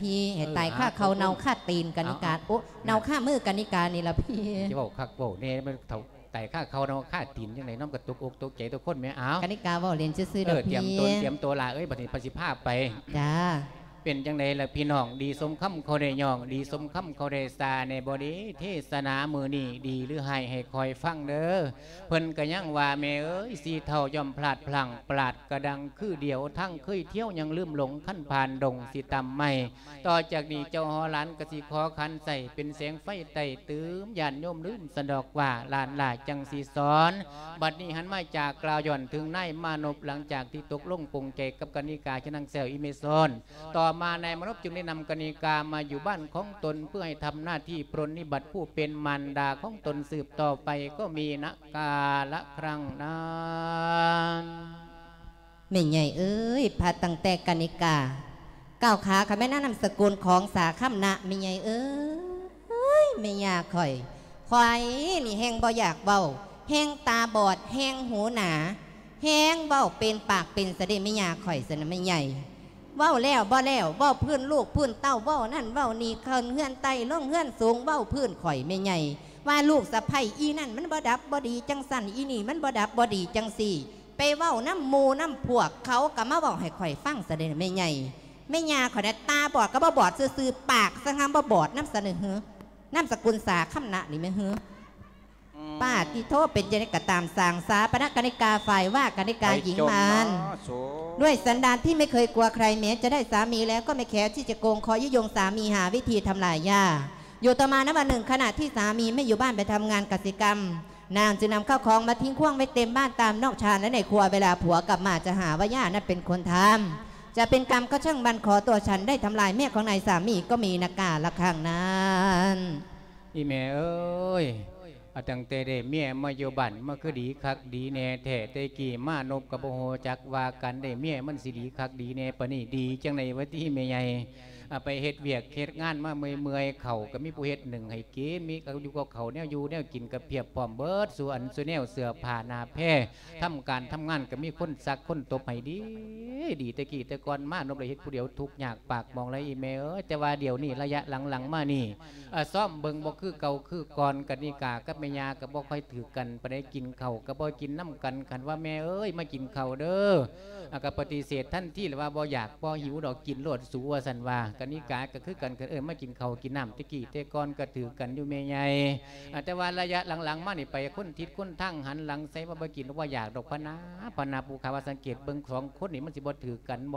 ພີ່ ໃຫ້ຕາຍຄາເຂົ້າເນົ່າຄາຕີນກະນິກາ. ເອົ້າ ເອົ້າ ໂອ້ ເນົ່າຄາມືກະນິການີ້ລະພີ່. ຈະເວົ້າຄັກເວົ້າແນ່ ມັນເຖົ້າຕາຍຄາເຂົ້າເນົ່າຄາຕີນຈັ່ງໃດເນາະ ມັນກະຕົກອົກຕົກໃຈຕົວຄົນແໝ. ເອົ້າ ກະນິກາເວົ້າຫຼິ້ນຊື່ໆດອກພີ່. ຕຽມຕົວ ຕຽມໂຕຫຼ້າເອີຍ ບັດນີ້ພະຊິພາໄປ. ຈ້າ. ເປັນຈັ່ງໃດລະພີ່ນ້ອງ ດີສົມຄຳເຂົາໄດ້ຍ້ອງ ດີສົມຄຳເຂົາໄດ້ສາແນ່ບໍ່ເດ? ເທສະໜາມື້ນີ້ດີຫຼືຮ້າຍໃຫ້ຂ້ອຍຟັງເດີ. ເພິ່ນກະຍັງວ່າ ແມ່ເອີຍ ສີເທົາຍ່ອມພລາດພລັ້ງ ປາດກະດັງຄືດຽວ ທາງເຄີຍທ່ຽວຍັງລືມຫຼົງ ຄັນຜ່ານດົງຊິຕຳໄມ້. ຕໍ່ຈາກນີ້ເຈົ້າຫໍຫຼານກະຊິຂໍຂັນໃສ່ ເປັນແສງໄຟໃຕ້ຕື່ມ ຍາດໂຍມລືມຊັ້ນດອກວ່າ ຫຼານຫຼ້າຈັ່ງຊິສອນ. ບັດນີ້ຫັນມາຈາກກ່າວຍ້ອນເຖິງນາຍມານົບ ຫຼັງຈາກທີ່ຕົກລົງປົງໃຈກັບກະນິກາ ຊະນາງແຊວອີເມຊອນ. ຕໍ່ມານາຍມານົບຈຶ່ງໄດ້ນຳກະນິກາມາຢູ່ບ້ານຂອງຕົນ ເພື່ອໃຫ້ທຳໜ້າທີ່ປຣນນິບັດຜູ້ເປັນມານດາຂອງຕົນສືບຕໍ່ໄປ ກໍມີນະກາລະຄັ້ງນັ້ນ. ແມ່ໃຫຍ່ເອີຍ ພາຕັ້ງແຕ່ກະນິກາກ້າວຂາເຂົ້າມາໃນນາມສະກຸນຂອງສາຄຳນະ ແມ່ໃຫຍ່ເອີຍ ແມ່ຍ່າຂ້ອຍ ຂ້ອຍນີ້ແຮ່ງບໍ່ຢາກເວົ້າ ແຮ່ງຕາບອດ ແຮ່ງຫູໜາ ແຮ່ງເວົ້າເປັນປາກເປັນສະເດ ແມ່ຍ່າຂ້ອຍຊັ້ນນະແມ່ໃຫຍ່. ເວົ້າແລ້ວບໍ່ແລ້ວ ເວົ້າພື້ນລູກພື້ນເຕົ້າ ເວົ້ານັ້ນເວົ້ານີ້ ຂຶ້ນເຮືອນໄຕ່ລົງເຮືອນສູງ ເວົ້າພື້ນຂ້ອຍແມ່ໃຫຍ່ ວ່າລູກສະໃພ້ອີນັ້ນມັນບໍ່ດັບບໍ່ດີຈັ່ງຊັ້ນ ອີນີ້ມັນບໍ່ດັບບໍ່ດີຈັ່ງຊີ້ ໄປເວົ້ານຳໝູ່ນຳພວກ ເຂົາກະມາເວົ້າໃຫ້ຂ້ອຍຟັງຊະເດແມ່ໃຫຍ່. ແມ່ຍ່າຂ້ອຍນະຕາບອດກະບໍ່ບອດຊື່ໆ ປາກຊະຫາບໍ່ບອດນຳຊະເດ. ນາມສະກຸນສາຄຳນະນີ້ແມ່ນເຮີ. ປາດຕິໂທ ເປັນຈັ່ງໃດກະຕາມ ສ້າງສາປະນະກະນິກາ ຝ່າຍວ່າກະນິກາຍິງມານ ດ້ວຍສັນດານທີ່ໄມ່ເຄີຍກົວໃຄ ແມ້ຈະໄດ້ສາມີແລ້ວກໍໄມ່ແຄວທີ່ຈະໂກງ ຂໍຍຸຍົງສາມີຫາວິທີທຳລາຍຢາ. ຢູ່ຕໍ່ມາໃນວັນໜຶ່ງ ຂະນະທີ່ສາມີໄມ່ຢູ່ບ້ານໄປທຳງານກະສິກຳ ນາງຈຶ່ງນຳເຂົ້າຂອງມາຖິ້ງຂວ້າງໄວ້ເຕັມບ້ານຕາມນອກຊານ ແລະໃນຄົວ ເວລາຜົວກັບມາຈະຫາວ່າຢານັ້ນເປັນຄົນທຳ ຈະເປັນກຳກໍຊ່າງມັນ ຂໍຕົວະສັນໄດ້ທຳລາຍເມຍຂອງນາຍສາມີ ກໍມີນະກາລະຄັ້ງນັ້ນ. ອີແມ່ເອີຍ ອາ ຕັ້ງແຕ່ໄດ້ເມຍມາຢູ່ບ້ານ ມັນຄືດີຄັກດີແນ່ແທ້ ແຕ່ກີ້ມານົບກະບໍ່ຮູ້ຈັກວ່າການໄດ້ເມຍມັນຊິດີຄັກດີແນ່ປານນີ້ ດີຈັ່ງໃດວະຕິແມ່ໃຫຍ່. ອາ ໄປເຮັດວຽກເຮັດງານມາເມື່ອຍໆ ເຂົ້າກະມີຜູ້ເຮັດໜຶ້ງໃຫ້ກິນ ມີຢູ່ກັບເຂົ້າແນວຢູ່ແນວກິນກະພຽບພ້ອມເບິດສູ່ອັນສູ່ແນວ ເສື້ອຜ້າໜ້າແພ ທຳການທຳງານກະມີຄົນຊັກຄົນຕົບໃຫ້ດີ ດີ ແຕ່ກີ້ແຕ່ກ່ອນມານົບໄດ້ເຮັດຜູ້ດຽວທຸກຍາກປາກໝອງຫຼາຍອີແມ່ເອີຍ ແຕ່ວ່າດຽວນີ້ໄລຍະຫຼັງໆມານີ້ ເອີ ຊອມເບິ່ງບໍ່ຄືເກົ່າຄືກ່ອນ ກະນິກາກັບແມ່ຍ່າກະບໍ່ຄ່ອຍຖືກກັນປານໃດ ກິນເຂົ້າກະບໍ່ກິນນຳກັນ ຄັນວ່າແມ່ເອີຍ ມາກິນເຂົ້າເດີ ອາ ກະປະຕິເສດທັນທີ ລະວ່າບໍ່ຢາກບໍ່ຫິວດອກ ກິນໂລດສູວ່າຊັ້ນວ່າ. ກະນິກາກະຄືກັນ ຄັນເອີ້ນມາກິນເຂົ້າກິນນ້ຳ ແຕ່ກີ້ແຕ່ກ່ອນກະຖືກກັນຢູ່ແມ່ໃຫຍ່ ອາ ແຕ່ວ່າໄລຍະຫຼັງໆມານີ້ ໄປຄົນທິດຄົນທາງ ຫັນຫຼັງໃສ່ວ່າບໍ່ກິນບໍ່ຢາກດອກພະນາ ພະນາ ຜູ້ຂ້າວ່າສັງເກດເບິ່ງສອງຄົນນີ້ ມັນຊິບໍ່ຖືກກັນບໍ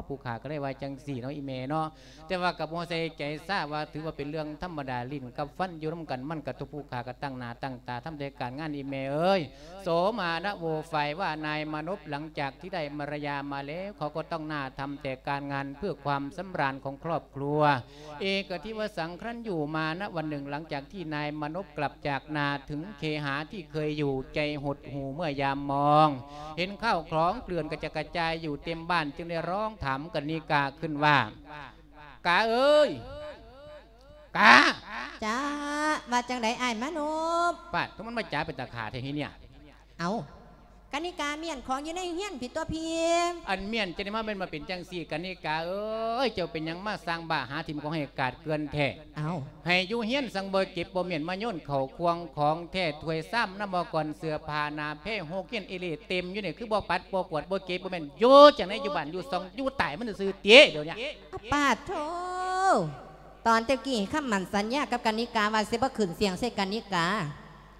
ຜູ້ຂ້າກະເລີຍວ່າຈັ່ງຊີ້ເນາະ ອີແມ່ເນາະ. ແຕ່ວ່າກະບໍ່ໃສ່ໃຈຊາ ວ່າຖືວ່າເປັນເລື່ອງທຳມະດາ ຫຼິ້ນກັບຟັນຢູ່ນຳກັນ ມັນກະທຸກ ຜູ້ຂ້າກະຕັ້ງໜ້າຕັ້ງຕາທຳແຕ່ການງານ ອີແມ່ເອີຍ. ໂສມານະໂວ ຝ່າຍວ່ານາຍມານົບ ຫຼັງຈາກທີ່ໄດ້ມາລະຍາມາແລ້ວ ເຂົາກໍຕ້ອງໜ້າທຳແຕ່ການງານເພື່ອຄວາມສຳລານຂອງຄອບຄົວ. ເອກະທິວະສັງຄະລັນຢູ ມານະວັນໜຶ່ງ ຫຼັງຈາກທີ່ນາຍມານົບກັບຈາກນາເຖິງເຄຫາທີ່ເຄີຍຢູ່ ໃຈຫົດຫູ່ເມື່ອຍາມມອງ ເຫັນຂ້າວຂອງເກລື່ອນກະຈັດກະຈາຍຢູ່ເຕັມບ້ານ ຈຶ່ງໄດ້ຮ້ອງຖາມກະນິກາຂຶ້ນວ່າ ກາເອີຍ ກາ. ຈ້າ ວ່າຈັ່ງໃດອ້າຍມານົບ? ປາດ ມັນມາຈາເປັນຕາຂ້າແທ້ເຮຍເນຍ. ເອົ້າ ກະນິກາມ້ຽນຂອງຢູ່ໃນເຮືອນພີ້ຕົວະພີ່. ອັນມ້ຽນຈັ່ງໃດມາແມ່ນມາເປັນຈັ່ງຊີ້ ກະນິກາເອີຍ ເຈົ້າເປັນຫຍັງມາສ້າງບ້າຫາຖິ້ມຂອງໃຫ້ກາດເກືອນແທ້? ເອົ້າ ໃຫ້ຢູ່ເຮືອນສັງບໍ່ເກັບບໍ່ມ້ຽນ ມາໂຍນເຂົ້າຂວ້າງຂອງແທ້ ຖ້ວຍຊາມນ້ຳໝໍ້ກ້ອນ ເສື້ອຜ້າໜ້າແພ ຫົກເຮຍນເອເລ່ເຕັມຢູ່ນີ້ ຄືບໍ່ປັດບໍ່ກວາດບໍ່ເກັບບໍ່ມ້ຽນ ຢູ່ຈັ່ງໃດ ຢູ່ບ້ານຢູ່ຊ່ອງ ຢູ່ຕາຍມັນຊື່ໆຕິດຽວນີ້. ປາດໂທ ຕອນແຕ່ກີ້ຄຳໝັ້ນສັນຍາກັບກະນິກາວ່າຊິບໍ່ຂຶ້ນສຽງໃສ່ກະນິກາ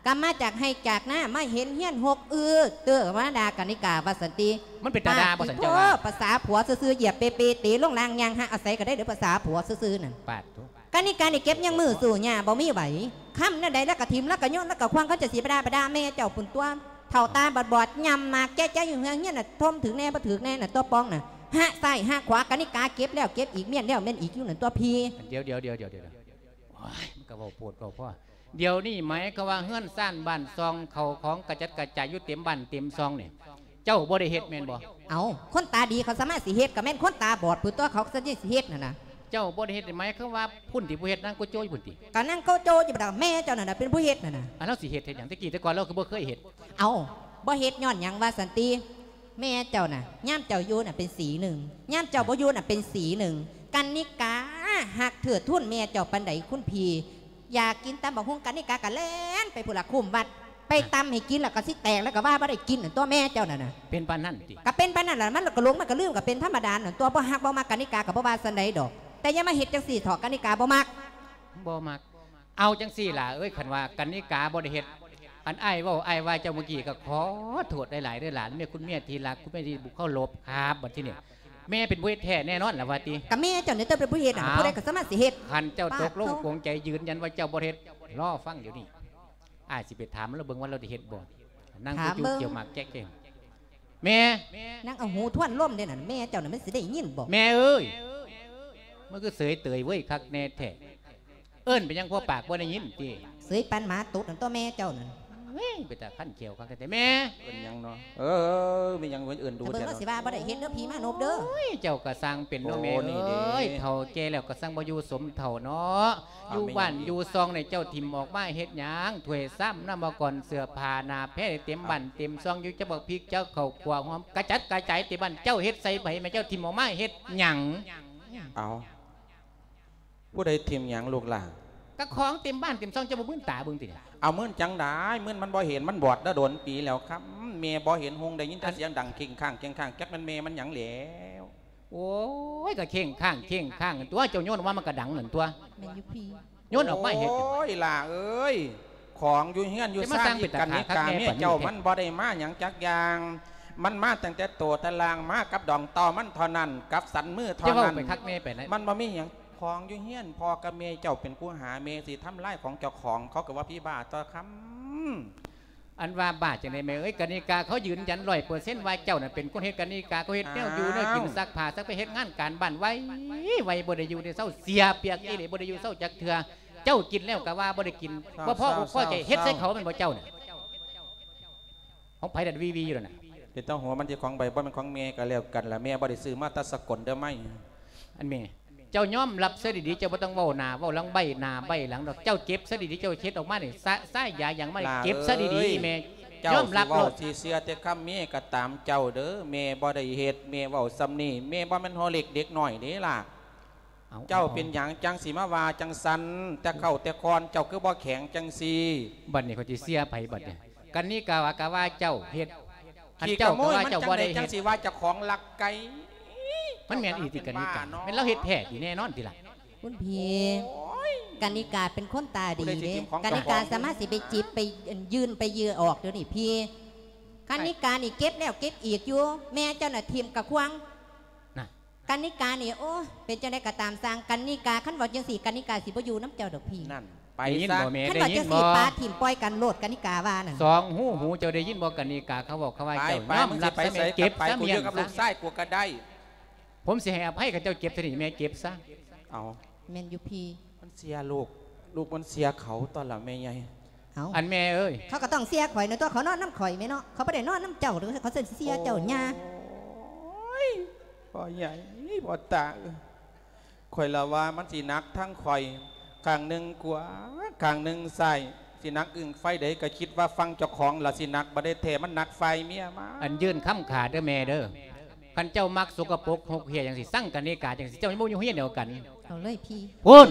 ກະມາຈາກໄຮ່ຈາກນາ ມາເຫັນເຮືອນຮົກອືດເຕີມາດ່າກະນິກາວ່າຊັ້ນຕິ. ມັນເປັນຕາດ່າບໍ່ຊັ້ນເຈົ້າວ່າ? ປາດໂທ ພາສາຜົວຊື່ໆ ຢຽບເປເປເຕະລົງລ່າງ ຍ່າງຫາອາໄສກະໄດ້ເດີພາສາຜົວຊື່ໆນັ້ນ. ປາດໂທ ກະນິການີ້ເກັບຍັງມືສູ້ຫຍ້າບໍ່ມີໄຫວ ຄຳແນວໃດລະກະຖິ້ມ ລະກະໂຍນ ລະກະຂວ້າງ ເຂົາຈະຊິປະດາປະດາແມ່ເຈົ້າພຸ້ນຕົວະ. ເຖົ້າຕາບອດບອດ ຍ່ຳໝາກແຈະໃຈຢູ່ເຮືອນ ເຮືອນນະ ຖົມຖືກແນ່ບໍ່ຖືກແນ່ນະຕົວະ ປ່ອງນະ ຫະຊ້າຍຫະຂວາ ກະນິກາເກັບແລ້ວເກັບອີກ ມ້ຽນແລ້ວມ້ຽນອີກຢູ່ນັ້ນຕົວະພີ່. ດຽວໆໆໆ ໂອ້ຍ ມັນກະເວົ້າໂພດເວົ້າພໍ. ດຽວນີ້ໝາຍຄວາມວ່າເຮືອນຊານບ້ານຊ່ອງ ເຂົ້າຂອງກະຈັດກະຈາຍຢູ່ເຕັມບ້ານເຕັມຊ່ອງນີ້ ເຈົ້າບໍ່ໄດ້ເຮັດແມ່ນບໍ່? ເອົ້າ ຄົນຕາດີເຂົາສາມາດຊິເຮັດ ກະແມ່ນຄົນຕາບອດພຸ້ນຕົວະ ເຂົາຊິເຮັດຫັ້ນນະ. ເຈົ້າບໍ່ໄດ້ເຮັດ ໝາຍຄວາມວ່າພຸ້ນຕິ ຜູ້ເຮັດນາງໂກໂຈຢູ່ພຸ້ນຕິ? ກະນາງໂກໂຈຢູ່ພຸ້ນດອກ ແມ່ເຈົ້ານັ້ນນະເປັນຜູ້ເຮັດຫັ້ນນະ. ອັນລາວຊິເຮັດເຮັດຫຍັງ? ແຕ່ກີ້ແຕ່ກ່ອນລາວຄືບໍ່ເຄີຍເຮັດ. ເອົ້າ ບໍ່ເຮັດຍ້ອນຫຍັງວ່າຊັ້ນຕິ? ແມ່ເຈົ້ານະ ຍາມເຈົ້າຢູ່ນະເປັນສີໜຶ່ງ ຍາມເຈົ້າບໍ່ຢູ່ນະເປັນສີໜຶ່ງ. ກະນິກາ ຮັກເທີດທູນແມ່ເຈົ້າປານໃດຄຸນພີ່. ຢາກກິນຕຳບັກຫຸ່ງ ກະນິກາກະແລ່ນໄປພຸ້ນລະຄຸ້ມວັດ ໄປຕຳໃຫ້ກິນແລ້ວກະຊິແຕກ ແລ້ວກະວ່າບໍ່ໄດ້ກິນນັ້ນຕົວະແມ່ເຈົ້ານັ້ນນະ. ເປັນປານນັ້ນຕິ? ກະເປັນປານນັ້ນລະ ມັນກະຫຼົງມັນກະລືມ ກະເປັນທຳມະດານັ້ນຕົວະ. ບໍ່ຮັກບໍ່ມັກກະນິກາກະບໍ່ວ່າຊັ້ນໃດດອກ ແຕ່ຢ່າມາເຮັດຈັ່ງຊີ້ເຖາະ ກະນິກາບໍ່ມັກ ບໍ່ມັກ. ເອົາຈັ່ງຊີ້ຫຼະເອີຍ ຄັນວ່າກະນິກາບໍ່ໄດ້ເຮັດ ອັນອ້າຍເວົ້າ ອ້າຍວ່າເຈົ້າມື້ກີ້ ກະຂໍໂທດຫຼາຍໆເດີຫຼານ ແມ່ຄຸນເມຍທີ່ຮັກ ຄຸນເມຍທີ່ບຸເຄົາລົບຄັບ. ບັດທີນີ້ແມ່ເປັນຜູ້ເຮັດແທ້ແນ່ນອນລະວ່າຕິ? ກະແມ່ເຈົ້ານີ້ຕົວະເປັນຜູ້ເຮັດນະ ຜູ້ໃດກະສາມາດຊິເຮັດ. ຄັນເຈົ້າຕົກລົງປົງໃຈຢືນຢັນວ່າເຈົ້າບໍ່ເຮັດ ລໍຟັງດຽວນີ້ ອ້າຍຊິໄປຖາມລາວເບິ່ງວ່າລາວໄດ້ເຮັດບໍ່. ນັ່ງ ຖາມເບິ່ງ ຈູ້ໆ ຈຽວໝາກແຈກເອງ ແມ່ ນັ່ງເອົາຫູທວນລົມເດ້ນັ້ນ ແມ່ເຈົ້ານັ້ນມັນຊິໄດ້ຍິນບໍ່? ແມ່ເອີຍ ມັນຄືເສີຍເຕີຍເວີຍ ຄັກແນ່ແທ້. ເອີ້ນໄປຍັງພໍປາກບໍ່ໄດ້ຍິນຕິ? ເສີຍປານໝາຕົດນັ້ນຕົວະແມ່ເຈົ້ານັ້ນ. ເອີຍ ເປັນຕາຄັນແຂ້ວຄັກແທ້ແມ່. ເອີ້ນຫຍັງເນາະ? ເອີ ມີຫຍັງເອີ້ນດູແທ້ເນາະ? ເບິ່ງລາວຊິວ່າບໍ່ໄດ້ເຮັດເດີ ຜີມານົບເດີ. ໂອ້ຍ ເຈົ້າກະຊ່າງເປັນເນາະແມ່ເອີຍ ໂອ້ ນີ້ເດ້ ເຖົ້າແກ່ແລ້ວກະຊ່າງບໍ່ຢູ່ສົມເຖົ້າເນາະ. ຢູ່ບ້ານຢູ່ຊ່ອງນີ້ເຈົ້າຖິ້ມອອກມາເຮັດຫຍັງ? ຖ້ວຍຊາມ ນ້ຳອຸປະກອນ ເສື້ອຜ້າໜ້າແພເຕັມບ້ານເຕັມຊ່ອງຢູ່ ຈັກບັກພິກ ຈັກເຂົ້າຂົ້ວຫອມ ກະຈັດກະຈາຍເຕັມບ້ານ ເຈົ້າເຮັດໃສ່ໃຜແມ່ ເຈົ້າຖິ້ມອອກມາເຮັດຫຍັງ? ເອົາ ຜູ້ໃດຖິ້ມຫຍັງລູກຫຼ້າ? ກະຂອງເຕັມບ້ານເຕັມຊ່ອງ ເຈົ້າບໍ່ມື່ນຕາເບິ່ງຕິ? ເອົາມື່ນຈັ່ງໃດ? ມື່ນມັນບໍ່ເຫັນ ມັນບອດດາດົນປີແລ້ວ ຄຳແມ່ບໍ່ເຫັນຮຸ່ງ ໄດ້ຍິນແຕ່ສຽງດັງເຄັ່ງຄ້າງເຄັ່ງຄ້າງ ຈັກແມ່ນແມ່ມັນຫຍັງແລ້ວ. ໂອ້ຍ ກະເຄັ່ງຄ້າງເຄັ່ງຄ້າງຕົວະ ເຈົ້າໂຍນອອກມາມັນກະດັງນັ້ນຕົວະ. ແມ່ນຢູ່ພີ່ ໂຍນອອກມາເຮັດຫຍັງ? ໂອ້ຍ ຫຼ້າເອີຍ ຂອງຢູ່ເຮືອນຢູ່ຊານ ກະນິກາເມຍເຈົ້າ ມັນບໍ່ໄດ້ມາຫຍັງຈັກຢ່າງ ມັນມາຕັ້ງແຕ່ໂຕແຕ່ລ່າງ ມາກັບດອງຕໍ່ມັນເທົ່ານັ້ນ ກັບສັນມືເທົ່ານັ້ນ. ມັນບໍ່ມີຫຍັງ ຂອງຢູ່ເຮືອນພໍ່ກັບແມ່ ເຈົ້າເປັນຜູ້ຫາ ແມ່ຊິທຳລາຍຂອງເຈົ້າຂອງ ເຂົາກະວ່າຜີບ້າຕົວະ ຄຳ. ອັນວ່າບ້າຈັ່ງໃດແມ່ເອີຍ ກະນິກາເຂົາຢືນຢັນຮ້ອຍເປີເຊັນວ່າເຈົ້ານັ້ນເປັນຄົນເຮັດ ກະນິກາເຂົາເຮັດແນວຢູ່ແນວກິນ ຊັກຜ້າ ຊັກໄປເຮັດງານການບ້ານໄວໆ ບໍ່ໄດ້ຢູ່ໄດ້ເຊົາ ເສຍປຽກອີ່ຫຼີ ບໍ່ໄດ້ຢູ່ເຊົາຈັກເທື່ອ. ເຈົ້າກິນແລ້ວກະວ່າບໍ່ໄດ້ກິນ ບໍ່ພໍອົກພໍໃຈ ເຮັດໃສ່ເຂົາແມ່ນບໍ່ເຈົ້ານະ? ຂອງໃຜນັ້ນວີໆຢູ່ນັ້ນນະ? ເປັນຕາຫົວມັນຊິຂອງໃຜ ບໍ່ແມ່ນຂອງແມ່ກະແລ້ວກັນລະ ແມ່ບໍ່ໄດ້ຊື້ມາແຕ່ສະກົນເດີໄມ້. ອັນແມ່ ເຈົ້າຍອມຮັບຊະດີໆ ເຈົ້າບໍ່ຕ້ອງເວົ້າໜ້າເວົ້າຫຼັງ ໃບ້ໜ້າໃບ້ຫຼັງດອກ ເຈົ້າເກັບຊະດີໆ ເຈົ້າເຮັດອອກມານີ້ ສະ ສາຍຢາຫຍັງມານີ້ ເກັບຊະດີໆ ແມ່ ເຈົ້າຍອມຮັບໂລດ. ຊິເວົ້າຊິເຊື່ອແຕ່ຄຳແມ່ກະຕາມເຈົ້າເດີ ແມ່ບໍ່ໄດ້ເຮັດ ແມ່ເວົ້າສ່ຳນີ້ ແມ່ບໍ່ແມ່ນຫົວເລັກເດັກນ້ອຍເດ້ຫຼ້າ. ເຈົ້າເປັນຫຍັງຈັ່ງຊິມາວ່າຈັ່ງຊັ້ນ ແຕ່ເກົ່າແຕ່ກ່ອນ ເຈົ້າຄືບໍ່ແຂງຈັ່ງຊີ້? ບັດນີ້ຂ້ອຍຊິເຊື່ອໃຜບັດນີ້? ກະນິກາວ່າ ກະວ່າເຈົ້າເຮັດ ຄັນເຈົ້າກະວ່າເຈົ້າບໍ່ໄດ້ເຮັດ ຈັ່ງຊິວ່າເຈົ້າຂອງລັກໄກ່. ມັນແມ່ນອີ່ຕິກະນິກາ ແມ່ນລາວເຮັດແທ້ຕິ ແນ່ນອນຕິລະ? ຄຸນພີ່ ກະນິກາເປັນຄົນຕາດີເດ້ ກະນິກາສາມາດຊິໄປຈິບໄປຍື່ນໄປຢື້ອອກດຽວນີ້ພີ່. ກະນິການີ້ເກັບແລ້ວເກັບອີກຢູ່ ແມ່ເຈົ້ານະຖິ້ມກະຂວາງ. ກະນິການີ້ ໂອ້ ເປັນຈັ່ງໃດກະຕາມຊ່າງ ກະນິກາ ຄັນເວົ້າຈັ່ງຊີ້ ກະນິກາຊິບໍ່ຢູ່ນຳເຈົ້າດອກພີ່. ໄດ້ຍິນບໍ່ແມ່? ຄັນເວົ້າຈັ່ງຊີ້ ປາຖິ້ມປ່ອຍກັນໂລດ ກະນິກາວ່ານັ້ນ. ສອງຫູຫູ ເຈົ້າໄດ້ຍິນບໍ່ ກະນິກາເຂົາເວົ້າ ເຂົາວ່າເຈົ້າຍອມຮັບຊະແມ່ ເກັບຊະ ມຽງຊະ ລູກຊາຍກູກະໄດ້ ຜົມຊິໃຫ້ອະໄພ ຄັນເຈົ້າເກັບຊະນີ້ ແມ່ເກັບຊະ. ເອົາ ແມ່ນຢູ່ພີ່ ມັນເສຍລູກ ລູກມັນເສຍເຂົາ ຕອນລະແມ່ໃຫຍ່. ເອົ້າ ອັນແມ່ເອີຍ ເຂົາກະຕ້ອງເສຍຂ້ອຍນະຕົວະ ເຂົານອນນຳຂ້ອຍແມ່ເນາະ ເຂົາບໍ່ໄດ້ນອນນຳເຈົ້າ ເຂົາຊິເສຍເຈົ້າຍ່າ. ໂອ້ຍ ພໍ່ໃຫຍ່ ພໍ່ຕາເອີຍ ຂ້ອຍລະວ່າມັນຊິໜັກທັງຂ້ອຍ ຂ້າງໜຶ່ງຂວາ ຂ້າງໜຶ່ງຊ້າຍ ຊິໜັກອຶ້ງຝ່າຍໃດ ກະຄິດວ່າຝັ່ງເຈົ້າຂອງລະຊິໜັກ ບໍ່ໄດ້ແທ້ ມັນໜັກຝ່າຍເມຍມາ. ອັນຍື່ນຄຳຂາເດີແມ່ເດີ ຄັນເຈົ້າມັກສົກກະປົກຫົກເຫ້ຍຈັ່ງຊີ້ ຊັງກະນິກາຈັ່ງຊີ້ ເຈົ້າຍັງບໍ່ຢູ່ໂຮງຮຽນດຽວກັນ. ເອົາເລີຍພີ່ ພຸ້ນ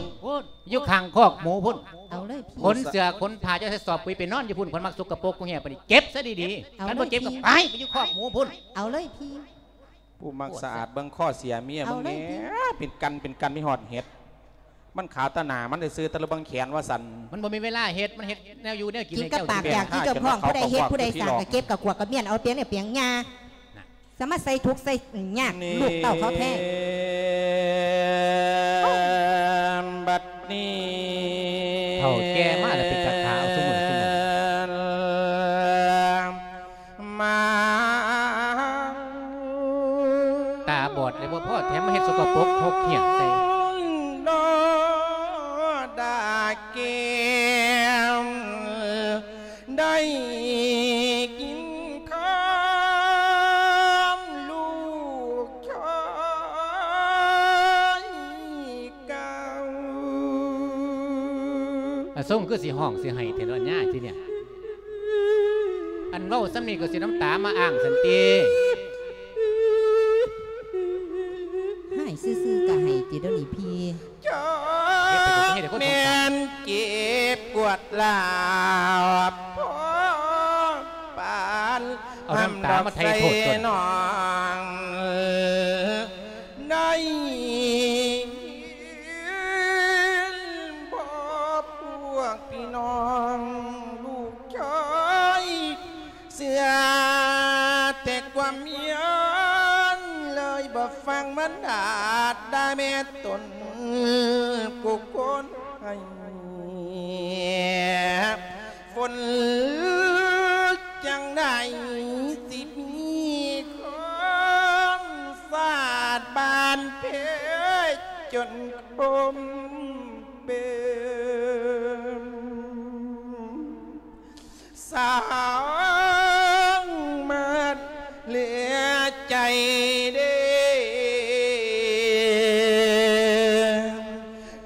ຢູ່ຂ້າງຄອກໝູພຸ້ນ. ເອົາເລີຍພີ່ ຂົນເສື້ອຂົນຜ້າເຈົ້າໃສ່ສອບປຸຍໄປນອນຢູ່ພຸ້ນ ຄົນມັກສົກກະປົກຫົກເຫ້ຍປານນີ້ ເກັບຊະດີໆ. ເອົາເລີຍພີ່ ຄັນບໍ່ເກັບກະໄປ ໄປຢູ່ຄອກໝູພຸ້ນ. ເອົາເລີຍພີ່ ຜູ້ມັກສະອາດເບິ່ງຄໍເສຍເມຍມຶງແດ່. ເອົາເລີຍພີ່ ເປັນກັນເປັນກັນມີຮອດເຫັດ ມັນຂາວຕາໜ້າມັນຊື່ໆ ແຕ່ລະເບິ່ງແຂນວ່າຊັ້ນ. ມັນບໍ່ມີເວລາເຮັດ ມັນເຮັດແນວຢູ່ແນວກິນໃຫ້ເຈົ້າກິນ. ກິນກະປາກຢາກຄືເຈົ້າຂອງ ຜູ້ໃດເຮັດຜູ້ໃດສ້າງກະເກັບກະກວາດກະມ້ຽນ ເອົາປຽງນີ້ປຽງຍ່າ. ສາມາດໃສ່ທຸກໃສ່ຍາກລູກເຕົ້າເຂົາແທ້. ບັດນີ້ ເຖົ້າແກ່ມາແລ້ວເປັນຕາຂາເອົາຊຸມື້ຊຸມື້ ມາ ຕາບອດແລ້ວບໍ່ພໍ ແຖມມາເຮັດສົກກະປົກຫົກເຫ້ຍໃສ່. ດາແກ້ມ ໄດ້ກິນຄຳລູກຊາຍເກົ່າ. ອາ ຊົງຄືຊິຮ້ອງຊິໄຫ້ແທ້ເນາະຍາຍທີເນີ້ຍ ອັນເວົ້າສ່ຳນີ້ກະຊິນ້ຳຕາມາອ້າງຊັ້ນຕິ. ຮ້ອງຊື່ໆກະໄຫ້ຕິດຽວນີ້ພີ່. ດລາວ ພໍປານ ເອົານ້ຳຕາມາໄຖ່ໂທດຕົນ ໃຫ້ນ້ອງໄດ້ຍິນບໍ່ ພວກພີ່ນ້ອງລູກຊາຍ ເຊື່ອແຕ່ຄວາມຢ້ານ ເລີຍບໍ່ຟັງມານດາດ່າແມ່ຕົນ ຜູ້ຄົນໃຫ້ຝົນ ຈັ່ງໃດຊິມີຄວາມສາດບານເພຈົນຄົມເປັນ ສ້າງມາເຫຼືອໃຈເດ້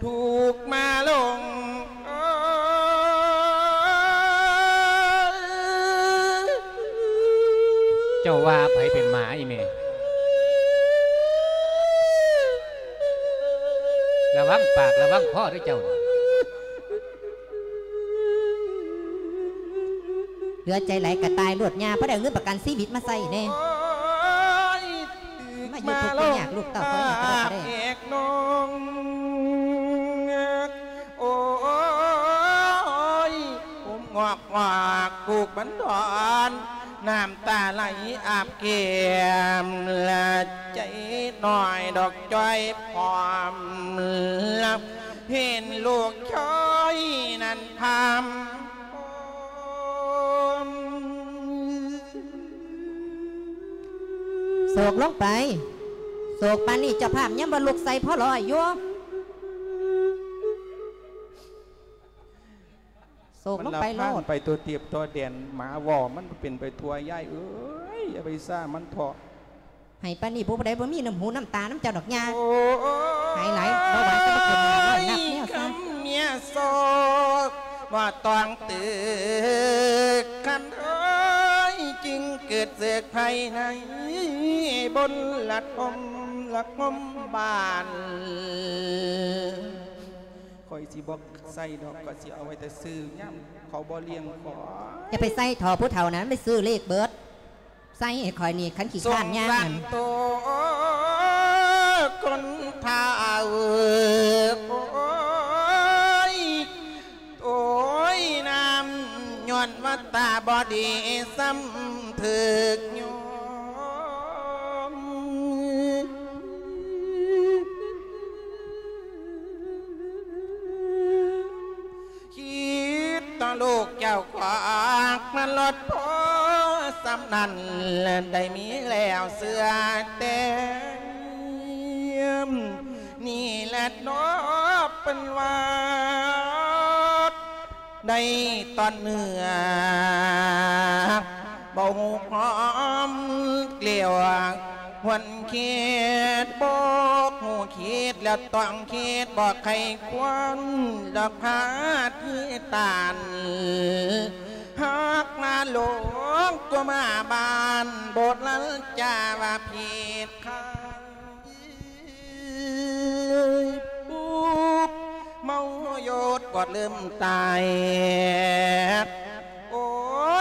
ທຸກມາລົງ ເຈົ້າວ່າໃຜເປັນໝາອີແມ່? ລະວັງປາກລະວັງຄໍເດີເຈົ້າ. ເຫຼືອໃຈຫຼາຍກະຕາຍໂລດ ຍ່າ ພໍໄດ້ເອົາເງິນປະກັນຊີວິດມາໃຊ້ແດ່ ມາຢູ່ທຸກມາຍາກ ລູກເຕົ້າເຂົາເອງກໍບໍ່ໄດ້ ໂອ້ຍ ໂອມງອກ ອອກ ຜູ້ບັນດອນ ນ້ຳຕາໄຫຼອາບແກ້ມ ລະໃຈນ້ອຍດອກຈ້ອຍພ້ອມ ເຫັນລູກຊາຍນັ້ນພາມ ໂສກລົງໄປ ໂສກປານນີ້ເຈົ້າພາບຍັງບໍ່ລຸກໃສ່ພໍລອຍຢູ່. ໂສກລົງໄປໂລດ ມັນລະພານໄປຕົວຕຽບຕົວແດນ ໝາວໍ້ມັນເປັນໄປທົ່ວ ຍາຍເອີຍ ຢ່າໄປຊ້າມັນເຖາະ. ໃຫ້ປານນີ້ຜູ້ໃດບໍ່ມີນ້ຳຫູນ້ຳຕານຳເຈົ້າດອກຍ່າ ໂອ້ຍ ໃຫ້ຫຼາຍ ບໍ່ວ່າຈະມາເປັນໜ້ານ້ອຍນັບແນວຊະ ຄຳເມຍໂສກ ບໍ່ຕ້ອງຕຶກຄັນເອີຍ ຈຶ່ງເກີດເສກໄພໃນບົນລະທົມລະຄົມບ້ານ ຂ້ອຍຊິບໍ່ໃສ່ດອກ ຂ້ອຍຊິເອົາໄວ້ແຕ່ຊື່ ຍາມເຂົາບໍ່ລ້ຽງຂ້ອຍ ຢ່າໄປໃສ່ເຖາະ ຜູ້ເຖົ້ານັ້ນໄປຊື້ເລກເບິດ ໃສ່ໃຫ້ຂ້ອຍນີ້ ຄັນຂີ້ຄ້ານຍ່າງນັ້ນ ສົງສານໂຕຄົນເຖົ້າ ໂອ້ຍ ໂອ້ຍ ນ້ຳຍ້ອນວ່າຕາບໍ່ດີ ຊ້ຳຖືກຍ້ອນ ຄິດຕໍ່ລູກເຈົ້າຂວາກມາລອດພໍສ່ຳນັ້ນ ໄດ້ມີແລ້ວເຊື່ອແຕ່ ນີ້ແຫຼະເນາະເພິ່ນວ່າ ໄດ້ຕອນເໜືອ ບໍ່ຮູ້ພ້ອມເກລຽວ ຄວນຄິດບໍ່ຮູ້ຄິດ ແລ້ວຕ້ອງຄິດບໍ່ໄຄຄວນ ດອກພາທີ່ຕານ ຫາກມາຫຼວງຕົວມາບ້ານ ໂບດລັນຈາວ່າຜິດຄານ ປຸບເມົາໂຍດກອດລືມຕາຍ ໂອ້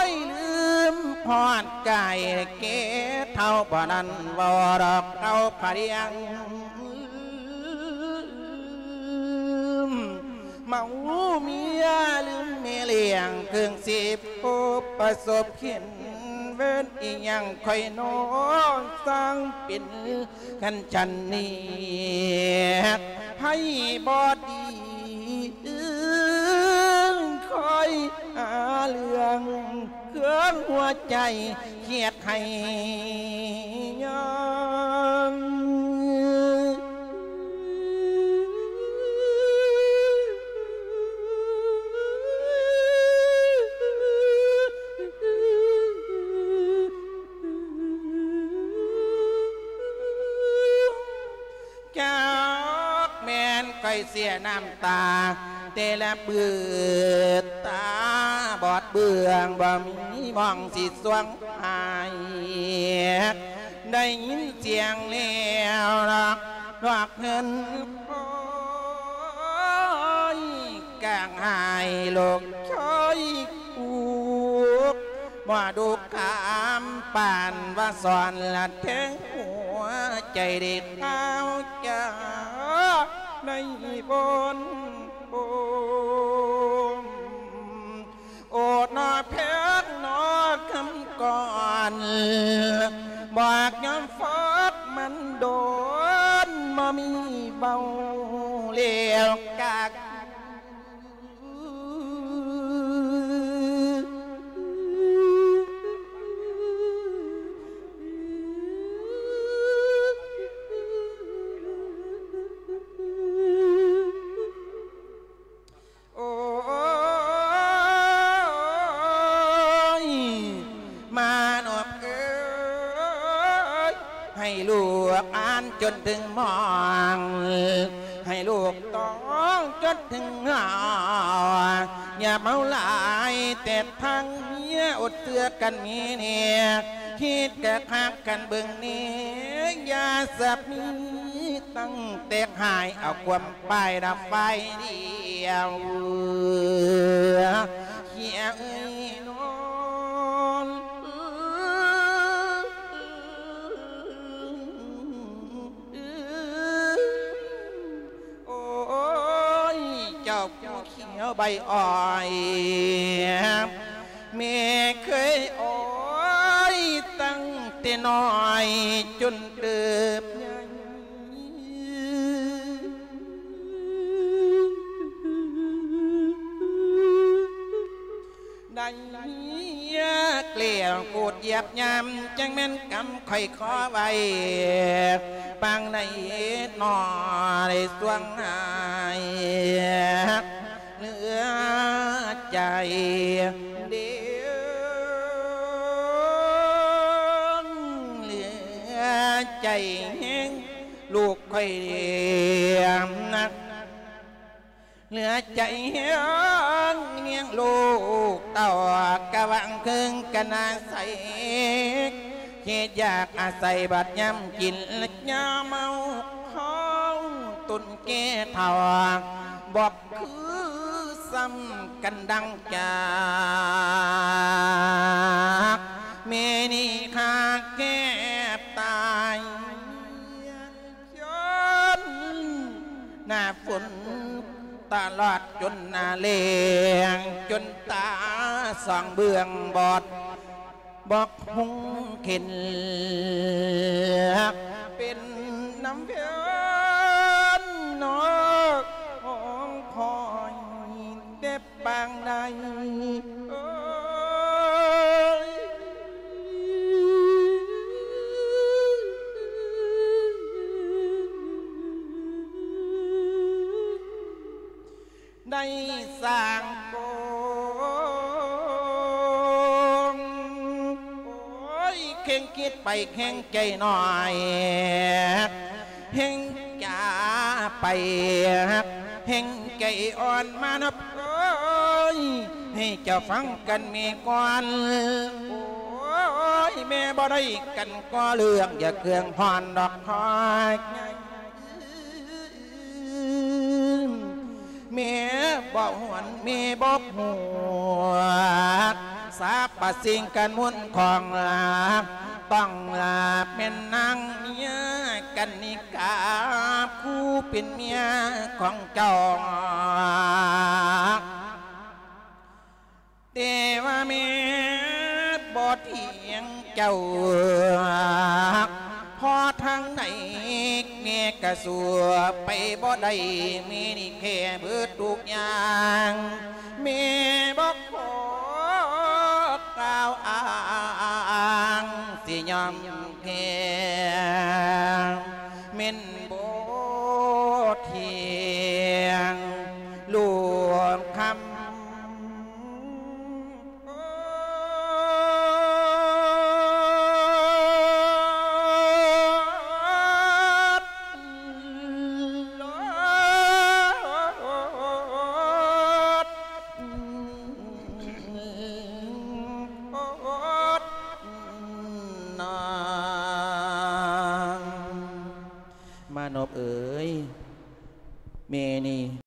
ຍ ລືມຮອດກາຍແກ່ເຖົ້າ ບໍ່ນັ້ນເວົ້າດອກເອົາພະລຽງ ເມົາເມຍລືມແມ່ລ້ຽງ ເຄິ່ງສິບພົບປະສົບເຫັນ ເວນອີ່ຫຍັງຂ້ອຍໜໍ ສ້າງເປັນ ຄັນຊັ້ນນີ້ ໃຜບໍ່ດີ ຄອຍຫາເລື່ອງ ເຄື່ອງຫົວໃຈ ຄຽດໃຫ້ຍາມ ຈັກແມ່ນຂ້ອຍເສຍນ້ຳຕາ ແຕ່ລະບືດຕາບອດເບືອງ ບໍ່ມີໝ່ອງຊິສວງຫາຍ ໄດ້ຍິນສຽງແລ້ວລອກ ລອກເຮືອນ ໂອ້ຍ ກະ ຈັ່ງໃຫ້ລູກເຄີຍທຸກ ບໍ່ດຸກຄຳປານວ່າສອນລະແທງຫົວໃຈ ໄດ້ຂ່າວຈາກໃນບົນໂອມ ໂອດໜໍ່ແພງໜໍ່ຄຳກ່ອນ ບອກຍອມຟອກມັນດົນ ບໍ່ມີເວົ້າແລ້ວກະ ໂອ້ຍ ມານອບເອີຍ ໃຫ້ລູກອ່ານຈົນເຖິງມ່ອງ ໃຫ້ລູກຕ້ອງຈົນເຖິງງອ ຢ່າເມົາຫຼາຍແຕ່ທັງເມຍ ອົດເຊື່ອກັນມີແນ່ ຄິດກະຄັກກັນເບິ່ງແນ່ ຢ່າສະມີ ຕັ້ງແຕ່ຫາຍເອົາຄວາມ ໄປດາໄຟດຽວ ເຂຍເອີຍນອນ ໂອ້ຍ ເຈົ້າຜູ້ຂຽວໃບອ້ອຍ ແມ່ເຄີຍອ້ອຍ ຕັ້ງແຕ່ນ້ອຍຈົນເຕີບໃຫຍ່ ໄດ້ແກ່ໂກດຢຽບຍາມ ຈັ່ງແມ່ນກຳຂ້ອຍຂໍໄວ້ ປາງໃດໜໍ່ໄດ້ສວງຫາຍ ເຫຼືອໃຈເດ ເຫຼືອໃຈແຮງ ລູກຂ້ອຍນະ ເຫຼືອໃຈແຮງລ້ຽງລູກເຕົ້າ ກະຫວັງເຄິ່ງກະໜ້າໃສ ຄິດຢາກອາໄສບາດຍາມກິນ ແລະຍາມເມົາ ເຮົາຕົນແກ່ເຖົ້າ ບໍ່ຄືຊ້ຳກັນດັ່ງຈາກ ແມ່ນີ້ຂ້າແກບຕາຍ ຈົນໜ້າຝົນຕະຫຼອດຈົນໜ້າແລ້ງ ຈົນຕາສອງເບື້ອງບອດ ບໍ່ຮຸ່ງເຫັນ ເປັນນຳເວນນອກຂອງຂ້ອຍແຕ່ປາງໃດ ເອີຍ ໄດ້ສ້າງໂກງ ໂອ້ຍ ເຄັ່ງຄິດໄປເຄັ່ງໃຈໜ້ອຍ ເຄັ່ງຈາໄປ ເຄັ່ງໃຈອ່ອນມານະ ເອີຍ ໃຫ້ເຈົ້າຟັງກັນແມ່ກ່ອນ ໂອ້ຍ ແມ່ບໍ່ໄດ້ກັນກໍເລື່ອງ ຢ່າເຄືອງຮ້ອນດອກ ຮອຍ ແມ່ບໍ່ຫວນ ແມ່ບໍ່ຫວກ ສາບປະສິ່ງກັນມຸນຂອງ ຕ້ອງລາເປັນນາງເມຍກັນນິກາ ຜູ້ເປັນເມຍຂອງເຈົ້າ ແຕ່ວ່າແມ່ບໍ່ຖຽງເຈົ້າ ເພາະທາງໃດແມ່ກະສູ້ໄປບໍ່ໄດ້ ແມ່ນີ້ແພ້ເບິດທຸກຢ່າງ ແມ່ບໍ່ຂໍກ່າວອ້າງ ຊິຍອມແພ້ ແມ່ນບໍ່ຖຽງ ລູກຄຳ